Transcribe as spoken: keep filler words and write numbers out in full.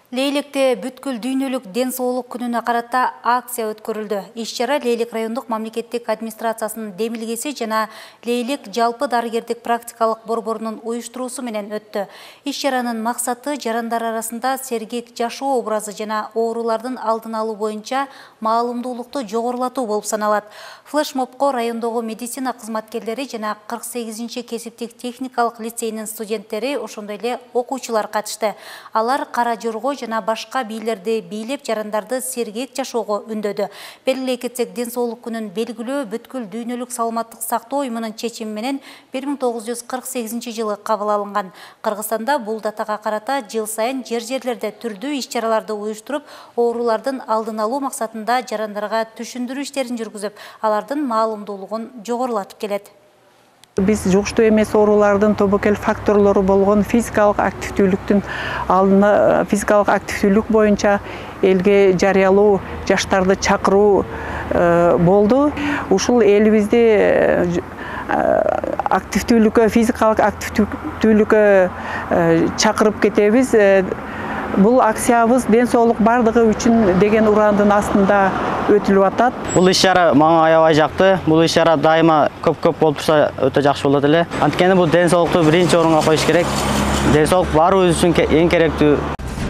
Лейлекте бүткүл дүйнөлүк ден соолук күнүнө карата акция өткөрүлдү. Иш-чара Лейлек райондук мамлекеттик администрациясынын демилгеси жана Лейлек жалпы дарыгердик практикалык борборунун уюштуруусу менен өттү. Иш-чаранын максаты жарандар арасында сергек жашоо образы жана оорулардын алдын алуу боюнча маалымдуулукту жогорулатуу болуп саналат. Флешмобко райондогу медицина кызматкерлери жана кырк сегизинчи кесиптик техникалык лицейинин студенттери, ошондой эле окуучулар катышты. Алар кара жорго жана башка бийлерди бийлеп жарандарды сергек жашоого үндөдү. Белгилей кетсек, ден соолук күнүн белгилөө бүткүл дүйнөлүк саламаттык сактоо уюмунун чечими менен бир миң тогуз жүз кырк сегизинчи жылы кабыл алынган. Кыргызстанда бул датага карата жыл сайын жер-жерлерде түрдүү иш-чараларды уюштуруп, оорулардын алдын алуу максатында жарандарга түшүндүрүү иштерин жүргүзүп, алардын маалымдуулугун жогорулатып келет. Биз жугуштуу эмес оорулардын тобокел факторлору болгон физикалык активдүүлүктүн алдына физикалык активдүүлүк боюнча элге жарыялуу, жаштарды чакыруу болду. Ушул элибизде активдүүлүккө, физикалык активдүүлүккө чакырып кетебиз. Бул акциябыз ден соолук бардыгы үчүн деген урандын астында өтүлүп атат. Бул иш-чара мага аябай жакты. Бул иш-чара дайыма көп-көп болуп турса өтө жакшы болот эле. Анткени бул ден соолукту биринчи орунга коюш керек. Ден соолук баарыбыз үчүн эң керектүү